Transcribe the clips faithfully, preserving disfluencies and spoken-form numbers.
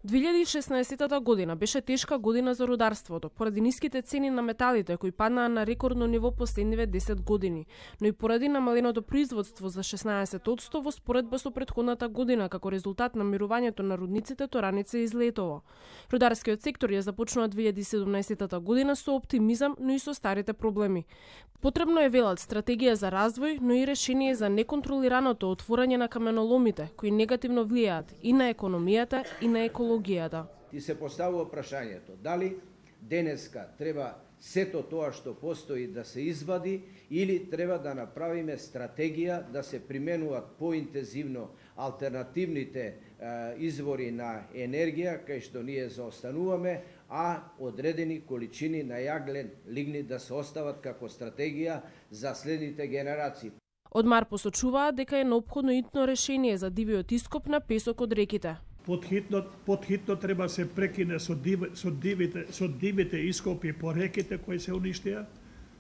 две илјади и шеснаесетта година беше тешка година за рударството, поради ниските цени на металите кои паднаа на рекордно ниво последниве десет години, но и поради намаленото производство за шеснаесет одсто во споредба со претходната година како резултат на мирувањето на рудниците Тораница и Злетово. Рударскиот сектор ја започнува две илјади и седумнаесетта година со оптимизам, но и со старите проблеми. Потребно е, велат, стратегија за развој, но и решение за неконтролираното отворање на каменоломите, кои негативно влијаат и на економијата и на екологијата. И се поставува прашањето дали денеска треба сето тоа што постои да се извади или треба да направиме стратегија да се применуваат поинтензивно алтернативните е, извори на енергија кај што ние заостануваме, а одредени количини на јаглен лигнит да се остават како стратегија за следните генерации. Од МАР посочуваа дека е неопходно итно решение за дивиот ископ на песок од реките. Подхитно, подхитно треба се прекине со, див, со, дивите, со дивите ископи по реките кои се уништија.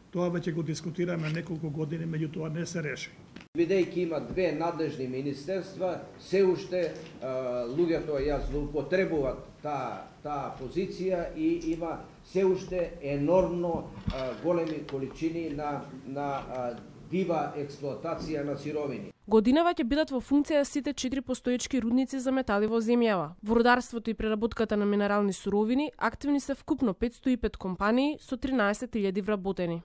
Тоа веќе го дискутираме неколку години, меѓутоа не се реши. Бидејќи има две надлежни министерства, се уште а, луѓето ја злоупотребуваат таа таа позиција и има се уште енормно а, големи количини на на а, дива експлоатација на сировини. Годинава ќе бидат во функција сите четири постоечки рудници за метали во земјава. Во рударството и преработката на минерални суровини активни се вкупно петстотини и пет компании со тринаесет илјади вработени.